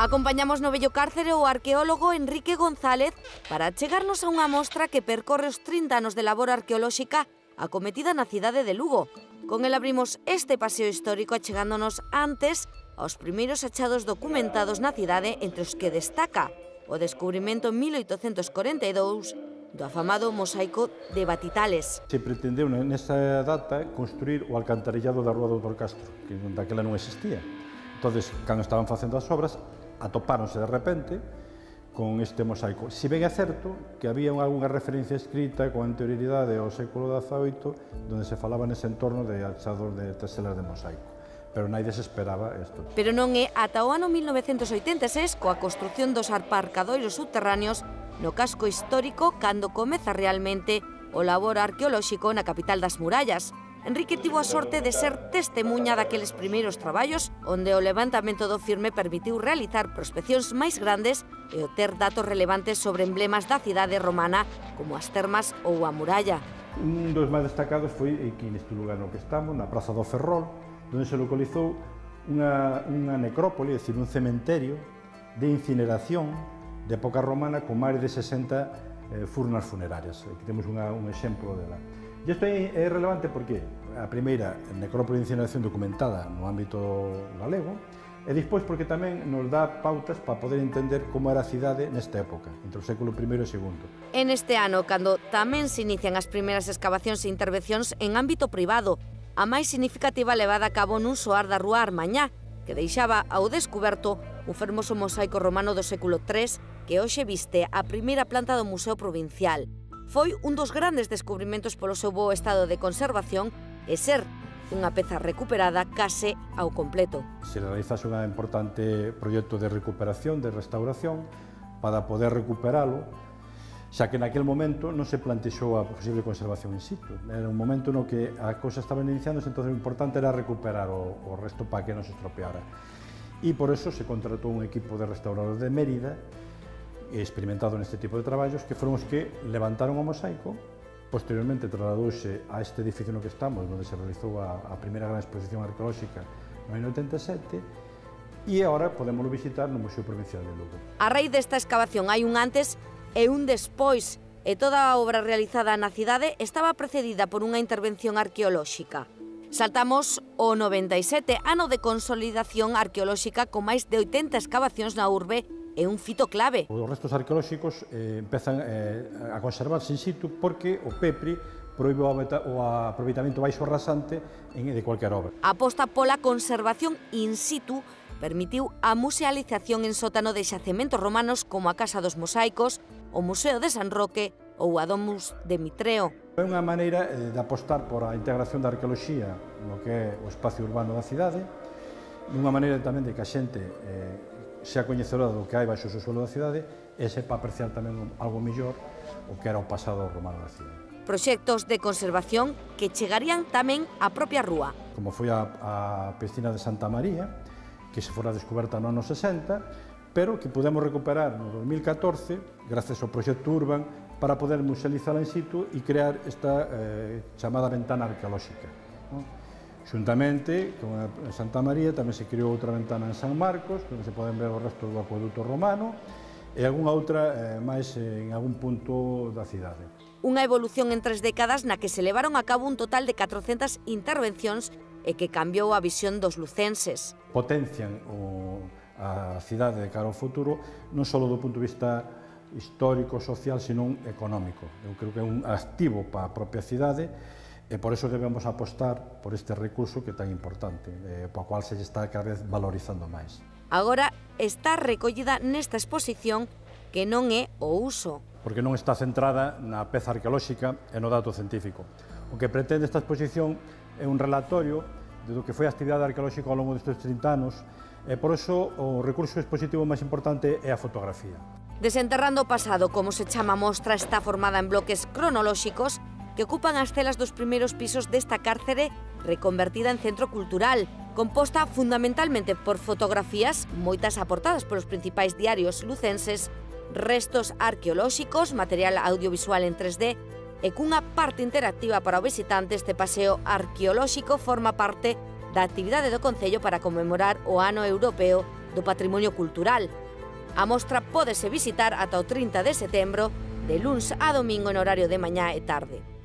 Acompañamos no vello cárcere o arqueólogo Enrique González para chegarnos a unha mostra que percorre os 30 anos de labor arqueolóxica acometida na cidade de Lugo. Con el abrimos este paseo histórico achegándonos antes aos primeiros achados documentados na cidade, entre os que destaca o descubrimento en 1842 do afamado mosaico de Batitales. Se pretendeu nesa data construir o alcantarillado da Rúa do Dr. Castro, que daquela non existía. Entonces, cando estaban facendo as obras, atopáronse de repente con este mosaico. Si ben é certo que había algunha referencia escrita con anterioridade ao século XVIII donde se falaba nese entorno de achados de teselas de mosaico, pero naide se esperaba isto. Pero non é ata o ano 1986 coa construción dos aparcadoiros subterráneos no casco histórico cando comeza realmente o labor arqueolóxico na capital das murallas. Enrique tivo a sorte de ser testemunha daqueles primeiros traballos onde o levantamento do firme permitiu realizar prospeccións máis grandes e obter datos relevantes sobre emblemas da cidade romana como as termas ou a muralla. Un dos máis destacados foi aquí neste lugar no que estamos, na Praza do Ferrol, onde se localizou unha necrópole, é dicir, un cementerio de incineración de época romana con máis de 60 furnas funerarias. Aquí temos un exemplo dela. E isto é relevante porque a primeira necrópole de incineración documentada no ámbito galego e despois porque tamén nos dá pautas para poder entender como era a cidade nesta época, entre o século I e II. En este ano, cando tamén se inician as primeiras excavacións e intervencións en ámbito privado, a máis significativa levada a cabo nun soar da Rúa Armañá, que deixaba ao descuberto un fermoso mosaico romano do século III que hoxe viste a primeira planta do Museo Provincial. Foi un dos grandes descubrimentos polo seu bo estado de conservación e ser unha peza recuperada case ao completo. Se realizase un importante proxecto de recuperación, de restauración, para poder recuperalo, xa que naquel momento non se plantexou a posible conservación in situ. Era un momento no que a cousa estaba iniciándose, entón o importante era recuperar o resto para que non se estropeara. E por eso se contratou un equipo de restauradores de Mérida experimentado neste tipo de traballos, que foron os que levantaron o mosaico. Posteriormente trasladouse a este edificio no que estamos, onde se realizou a primeira gran exposición arqueolóxica no ano 87, e agora podemos visitar no Museo Provincial de Lugo. A raíz desta excavación hai un antes e un despois, e toda a obra realizada na cidade estaba precedida por unha intervención arqueolóxica. Saltamos o 97, ano de consolidación arqueolóxica con máis de 80 excavacións na urbe é un fito clave. Os restos arqueolóxicos empezan a conservarse in situ porque o PEPRI proíbe o aproveitamento baixo rasante de cualquier obra. A aposta pola conservación in situ permitiu a musealización en sótano de xacementos romanos como a Casa dos Mosaicos, o Museo de San Roque ou a Domus de Mitreo. É unha maneira de apostar por a integración da arqueoloxía no que é o espacio urbano da cidade, e unha maneira tamén de que a xente xa coñecedora do que hai baixo o suelo da cidade e sepa apreciar tamén algo mellor o que era o pasado romano da cidade. Proxectos de conservación que chegarían tamén á propia rúa. Como foi a piscina de Santa María, que se fora descoberta no ano 60, pero que podemos recuperar no 2014 gracias ao proxecto Urban para poder musealizala in situ e crear esta chamada ventana arqueolóxica. Xuntamente con a Santa María tamén se creou outra ventana en San Marcos, onde se poden ver os restos do acueduto romano e algunha outra máis en algún punto da cidade. Unha evolución en 3 décadas na que se levaron a cabo un total de 400 intervencións e que cambiou a visión dos lucenses. Potencian a cidade de cara ao futuro non só do punto de vista histórico, social, sino económico. Eu creo que é un activo para a propia cidade e por eso debemos apostar por este recurso que é tan importante, para o cual se está cada vez valorizando máis. Agora está recollida nesta exposición que non é o uso. Porque non está centrada na peza arqueolóxica e no dato científico. O que pretende esta exposición é un relatorio de do que foi a actividade arqueolóxica ao longo destes 30 anos e por eso o recurso expositivo máis importante é a fotografía. Desenterrando o pasado, como se chama a mostra, está formada en bloques cronolóxicos que ocupan as celas dos primeiros pisos desta cárcere reconvertida en centro cultural, composta fundamentalmente por fotografías, moitas aportadas polos principais diarios lucenses, restos arqueolóxicos, material audiovisual en 3D e cunha parte interactiva para o visitante. Este paseo arqueolóxico forma parte da actividade do Concello para conmemorar o Ano Europeo do patrimonio cultural. A mostra pódese visitar ata o 30 de setembro, de luns a domingo en horario de mañá e tarde.